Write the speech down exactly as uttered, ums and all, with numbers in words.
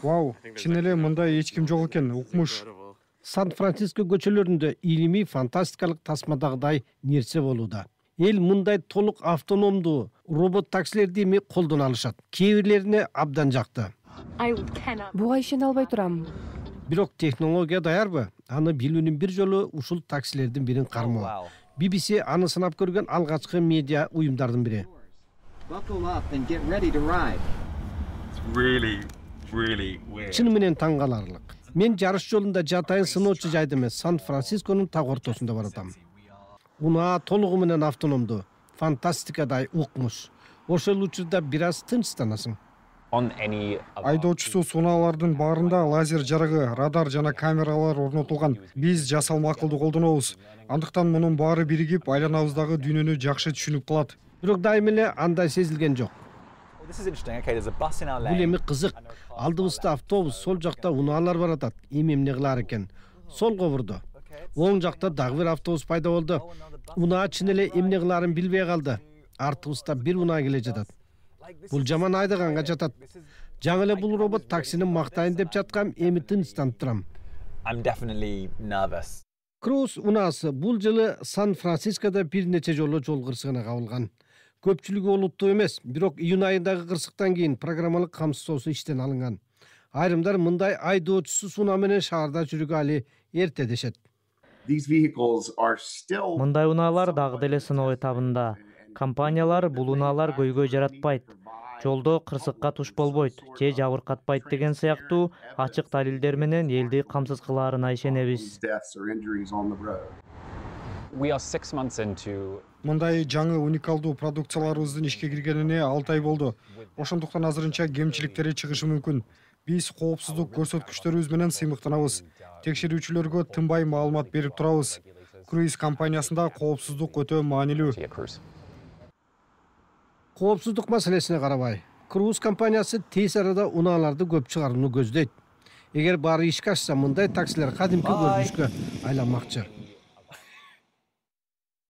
Вау, чын эле мындай эч ким жок экен, укмуш. Сан-Франциско көчөлөрүндө илимий фантастикалык тасмадагыдай нерсе болууда. Эл мындай толук автономдуу робот таксилерди эми колдоно алышат. Кээ бирлерине абдан жакты. Буга ишене албай турам. Бирок технология даярбы? Аны билүүнүн бир жолу ушул таксилердин бирин кармоо. би би си аны сынап көргөн алгачкы медиа уюмдардын бири. Чын менен таң каларлык. Мен жарыш жолунда жатайын сыноочу жайда эмес, Сан-Францисконун так ортосунда баратам. Унаа толугу менен автономдуу, фантастикадай укмуш. Ошол учурда бир аз тынчтанасың. Айдоочусу сунаалардын баарында лазер жарыгы, радар жана камералар орнотулган. Биз жасалма акылды колдонобуз. Андыктан мунун баары биригип, айланабыздагы дүйнөнү жакшы түшүнүп калат. Бирок дайыма эле андай сезилген жок. Бул эми кызык. Алдыбызда автобус, сол жакта унаалар баратат. Эми эмне кылар экен? Солго бурду. Оң жакта дагы бир автобус пайда болду. Унаа чын эле эмне кыларын билбей калды. Артыбызда бир унаа келе жатат. Бул жаман айдаганга жатат. Жаңы эле бул робот таксини мактайын деп жаткам, эми тынчтанып турам. Круз унаасы бул жылы Сан-Францискодо бир нече жолу жол кырсыгына кабылган. Көпчүлүгү олуттуу эмес, бирок июнь айындагы кырсыктан кийин программалык камсыздоосу иштен алынган. Айрымдар мындай айдоочусуз унаа менен шаарда жүрүүгө али эрте дешет. Мындай унаалар дагы деле сыноо этабында. Компаниялар бул унаалар көйгөй жаратпайт, жолдо кырсыкка туш болбойт же жабыркатпайт деген сыяктуу ачык далилдер менен элди камсыз кылаарына ишенебиз. Мындай жаңы уникалдуу продукцияларыбыздын ишке киргенине алты ай болду. Ошондуктан азырынча кемчиликтери чыгышы мүмкүн. Биз коопсуздук көрсөткүчтөрүбүз менен сыймыктанабыз. Текшерүүчүлөргө тынбай маалымат берип турабыз. Круиз компаниясында коопсуздук өтө маанилүү. Коопсуздук маселесине карабай, Круиз компаниясы тез арада унааларды көп чыгарууну көздөйт. Эгер баары ишке ашса, мындай таксилер кадимки көрүнүшкө айланмакчы.